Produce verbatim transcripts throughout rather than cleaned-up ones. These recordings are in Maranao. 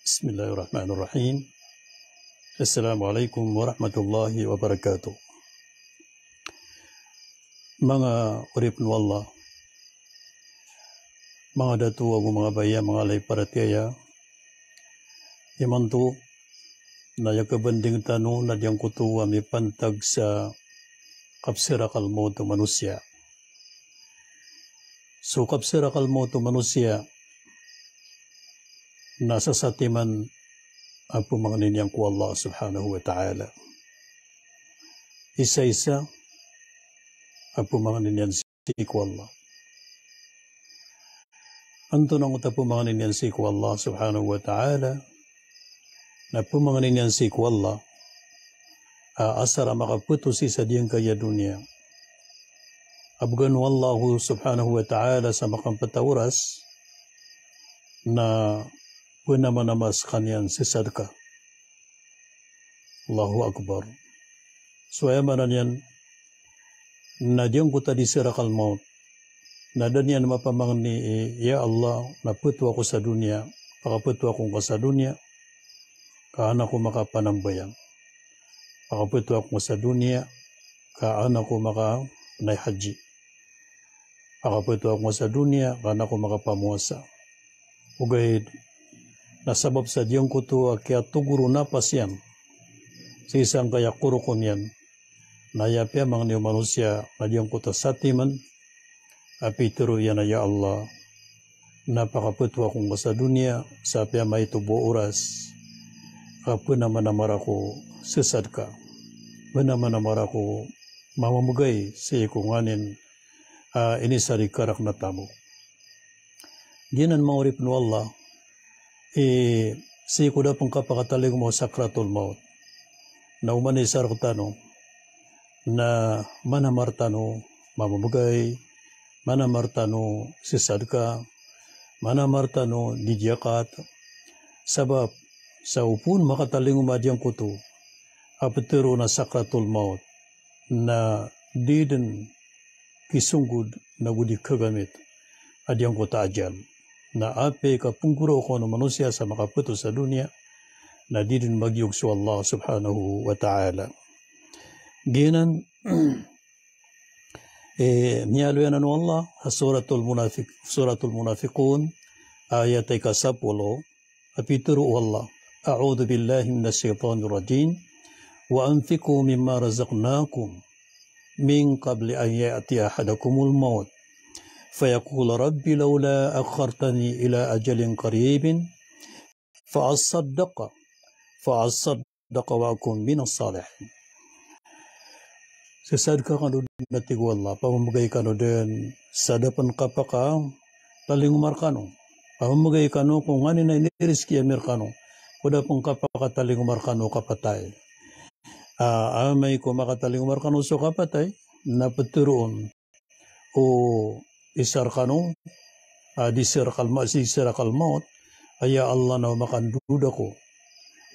Bismillahirrahmanirrahim. Assalamu alaikum warahmatullahi wabarakatuh. Manga oripn o Allah, manga dato ago manga baya, manga lay paratiyaya, imanto na aya kabanding tano na giyangkoto a mipantag sa kapsirakal mawt o manosiya. So kapsirakal mawt o manosiya na sasatiman a pmangnin iyan ko Allah subhanahu wa ta'ala. Isa-isa a pmangnin iyan sii ko Allah. Antonaa oto a pmangnin iyan sii ko Allah subhanahu wa ta'ala? Na pmangnin iyan sii ko Allah a asar a makapto sii sa giyangkaya doniya a bgan o Allah subhanahu wa ta'ala sa makampita oras na pnamanama skaniyan sii sa sadka. Allahu Akbar. So aya maana niyan na giyangkoto a di sirakal mawt na da niyan mapamangni i, "Ya Allah, na pto ako sa doniya, pakapto ako ngka sa doniya ka an ako makapanambayang. Pakapto ako ngka sa doniya ka an ako makapanay haji. Pakapto ako ngka sa doniya ka an ako makapamowasa." Ogaid na sabap sa giyangkoto a kiyatogor o napas iyan sii sangkaya korokon iyan, na aya piyamangni o manosiya na giyangkoto a satiman a pitharo iyan a, "Ya Allah, na pakapto ako ngka sa doniya sa piyamaito bo a oras ka pnamanamar ako sii sa sadka, pnamanamar ako mamamgay sii ko nganin a inisarikar akn a tamok." Giyanan manga oripn o Allah, i sii ko da pn kapakatalingoma o sakratul mawt na oman i isa rktano na manamar tano mamamgay, manamar tano sii sa sadka, manamar tano di giyakat. Sabap sa opama makatalingoma giyangkoto a ptharoon a sakratul mawt na di dn kisonggod nago di kagamit a giyangkoto a ajal. Na apiya i kapnggoraok o manosiya sa makapto sa doniya na di dn magiyog so Allah subhanahu wa ta'ala. Giyanan, eh, miyaaloy anan o Allah a Suratul Munafiq-, Suratul Munafiqun, ayat a ika sapolo, a pitharo o Allah, "A'udhu billahi minash shaytanir rajim. Wa anfiqu mimma razaqnakum min qabli an ya'tiya ahadakumul mawt fayaqula rabbi lawla akhartani ila ajalin qaribin fa asaddaqa, fa asaddaqa wa akun minas salihin." Sii sa sadka kano dn, a tig o Allah, pamamgay kano dn sa da pn kapakatalingoma rkano. Pamamgay kano ko nganin a inirizki ami rkano ko da pn kapakatalingoma rkano kapatay. A, amay ko makatalingoma rkano so kapatay, na ptharoon o isa rkano a di sirakal ma-, di sirakal mawt a, "Ya Allah, na o makandod ako,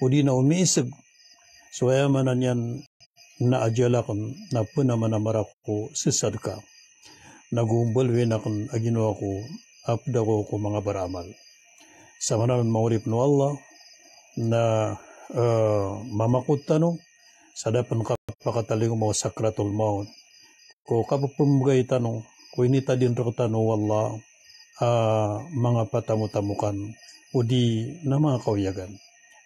odi na o miisg." So aya maana niyan na ajal akn na pnamanamar ako sii sa sadka, nago mbaloyin akn a ginawa ko a pd ako ko manga baramal. Sa maana nan manga oripn o Allah na, eh, mamakot tano sa da pn kapakatalingoma o sakratul mawt ko kapphmbgay tano ko initadin rktano o Allah a manga patamotamokan odi na manga kawiyagan.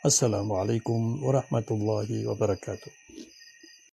Assalamu alaikum warahmatullahi wabarakatuh.